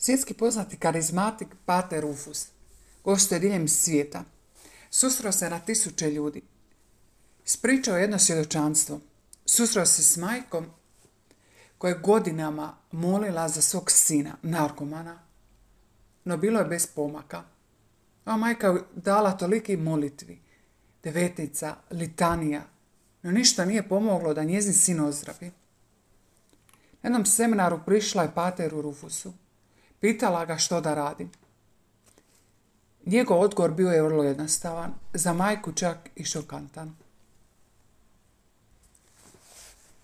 Svjetski poznati karizmatik Pater Rufus gostuje diljem svijeta. Susreo se na tisuće ljudi. Ispričao jedno svjedočanstvo. Susreo se s majkom koja je godinama molila za svog sina, narkomana, no bilo je bez pomaka. Ova majka je dala toliki molitvi, devetnica, litanija, no ništa nije pomoglo da njezin sin ozdravi. Na jednom seminaru prišla je Pateru Rufusu. Pitala ga što da radi. Njegov odgovor bio je vrlo jednostavan, za majku čak i šokantan.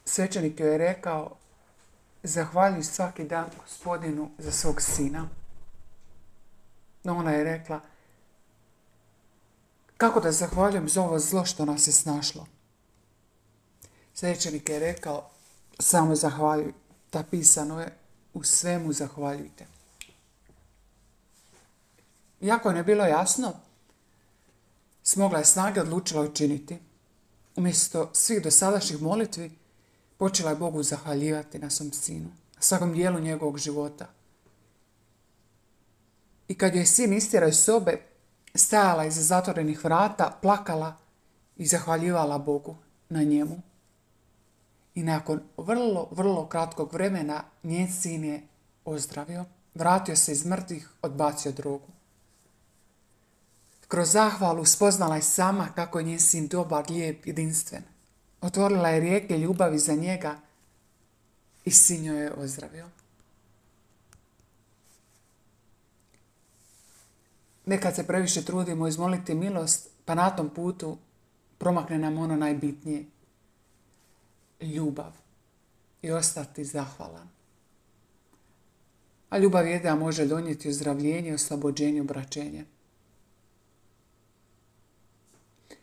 Svećenik joj je rekao: zahvaljuj svaki dan Gospodinu za svog sina. No ona je rekla: kako da zahvaljujem za ovo zlo što nas je snašlo? Svećenik je rekao: samo zahvaljuj, napisano je, u svemu zahvaljujte. Iako je bilo jasno, smogla je snage odlučila učiniti. Umjesto svih dosadašnjih molitvi, počela je Bogu zahvaljivati na svom sinu, na svakom dijelu njegovog života. I kad joj sin istjerao iz sobe, stajala iza zatvorenih vrata, plakala i zahvaljivala Bogu na njemu. I nakon vrlo kratkog vremena njen sin je ozdravio, vratio se iz mrtvih, odbacio drogu. Kroz zahvalu spoznala je sama kako je njen sin dobar, lijep, jedinstven. Otvorila je rijeke ljubavi za njega i sin joj je ozdravio. Nekad se previše trudimo izmoliti milost, pa na tom putu promakne nam ono najbitnije. Ljubav. I ostati zahvalan. A ljubav jedina može donijeti ozdravljenje, oslobođenje, obraćenje.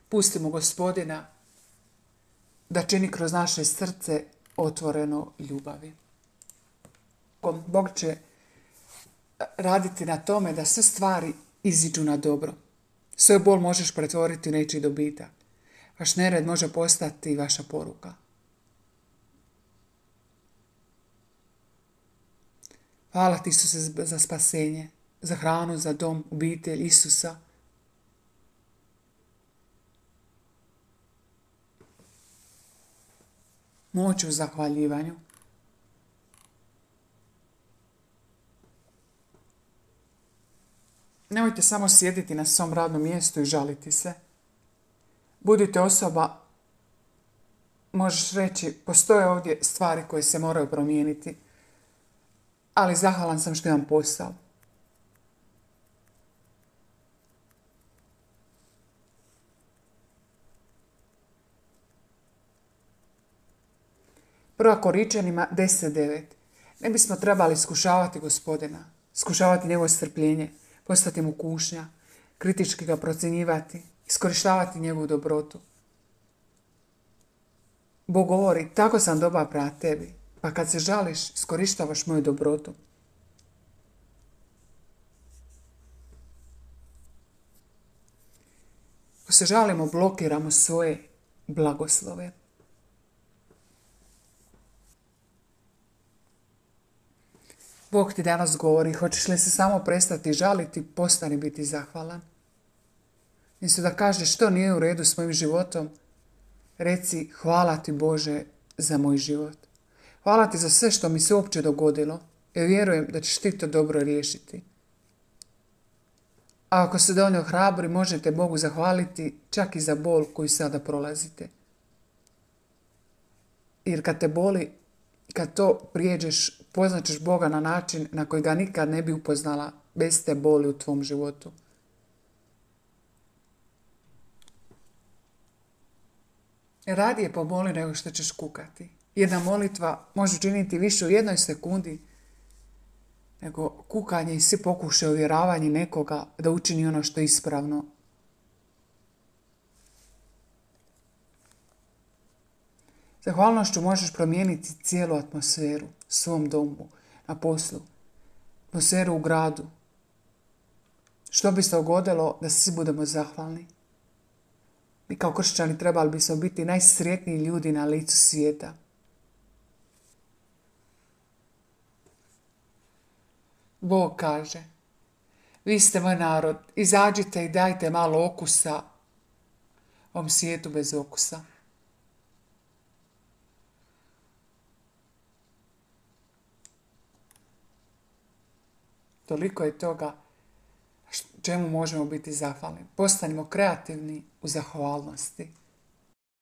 Pustimo Gospodina da čini kroz naše srce otvoreno ljubavi. Bog će raditi na tome da sve stvari iziđu na dobro. Svoj bol možeš pretvoriti u nečiji dobitak. Vaš nered može postati vaša poruka. Hvala ti, Isuse, za spasenje, za hranu, za dom, obitelj Isusa. Moć u zahvaljivanju. Nemojte samo sjediti na svom radnom mjestu i žaliti se. Budite osoba, možeš reći, postoje ovdje stvari koje se moraju promijeniti, ali zahvalan sam što imam posao. Prva Koričanima 10.9. Ne bismo trebali iskušavati Gospodina, iskušavati njegovo strpljenje, postati mu kušnja, kritički ga procjenjivati, iskorištavati njegovu dobrotu. Bog govori: tako sam dobar prema tebi, pa kad se žališ, iskorištavaš moju dobrotu. Ako se žalimo, blokiramo svoje blagoslove. Bog ti danas govori: hoćeš li se samo prestati žaliti, postani biti zahvalan. Umjesto da kažeš što nije u redu s mojim životom, reci: hvala ti Bože za moj život. Hvala ti za sve što mi se uopće dogodilo, jer vjerujem da ćeš ti to dobro riješiti. A ako se dovoljno hrabri, možete Bogu zahvaliti čak i za bol koju sada prolazite. Jer kad te boli, kad to prijeđeš, poznaćeš Boga na način na koji ga nikad ne bi upoznala bez te boli u tvom životu. Radije pomoli nego što ćeš kukati. Jedna molitva može učiniti više u jednoj sekundi nego kukanje i svi pokušaj uvjeravanja nekoga da učini ono što je ispravno. Zahvalnošću možeš promijeniti cijelu atmosferu, svom domu, na poslu, atmosferu u gradu. Što bi se dogodilo da svi budemo zahvalni? Mi kao kršćani trebali bismo biti najsretniji ljudi na licu svijeta. Bog kaže, vi ste moj narod, izađite i dajte malo okusa ovom svijetu bez okusa. Toliko je toga čemu možemo biti zahvalni. Postanimo kreativni u zahvalnosti.